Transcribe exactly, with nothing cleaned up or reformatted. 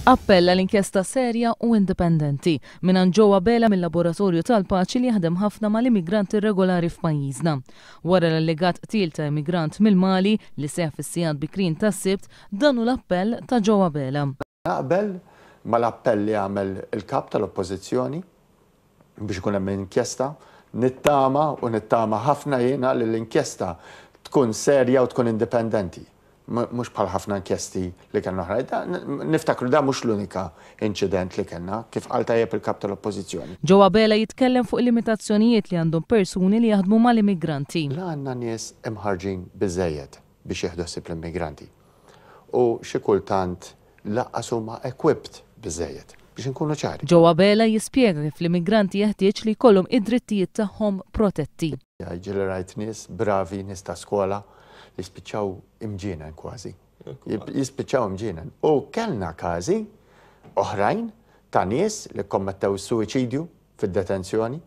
Appella l-inkjesta serja u indipendenti minn Joe Abela mill-Laboratorju tal-Paċi li jaħdem ħafna mal-immigranti irregolari f'pajjiżna. Wara l-allegat qtil ta' immigrant mill-Mali li seħ fis-sigħat bikrin tas-Sibt, dan hu l-appell ta' Joe Abela. Naqbel mal-appell li għamel il-kap tal-Oppożizzjoni biex ikun hemm inkjesta, nittama u nittama ħafna jiena li l-inkjesta tkun serja u tkun indipendenti. Mhux bħal ħafna inkjesti li kellna oħra. Niftakru da mhux l-unika inċident li kellna, kif qal tajjeb il-kap tal-Oppożizzjoni. Joe Abela jitkellem fuq limitazzjonijiet li għandhom persuni li jaħdmu mal-immigranti. La għandna nies imħarġin biżejjed biex jieħdu ħsieb l-immigranti. U xi kultant lanqas huma equipped biżejjed biex nkunu ċari. Joe Abela jispjega kif l-immigranti jeħtieġ li jkollhom id-drittijiet tagħhom protetti. Ġieli rajt nies bravi, nies ta' skola li spiċċaw imġienen kważi. Jispiċċaw imġienen. U kellna każi oħrajn ta' nies li kommettew suwiċidju fid-detenzjoni.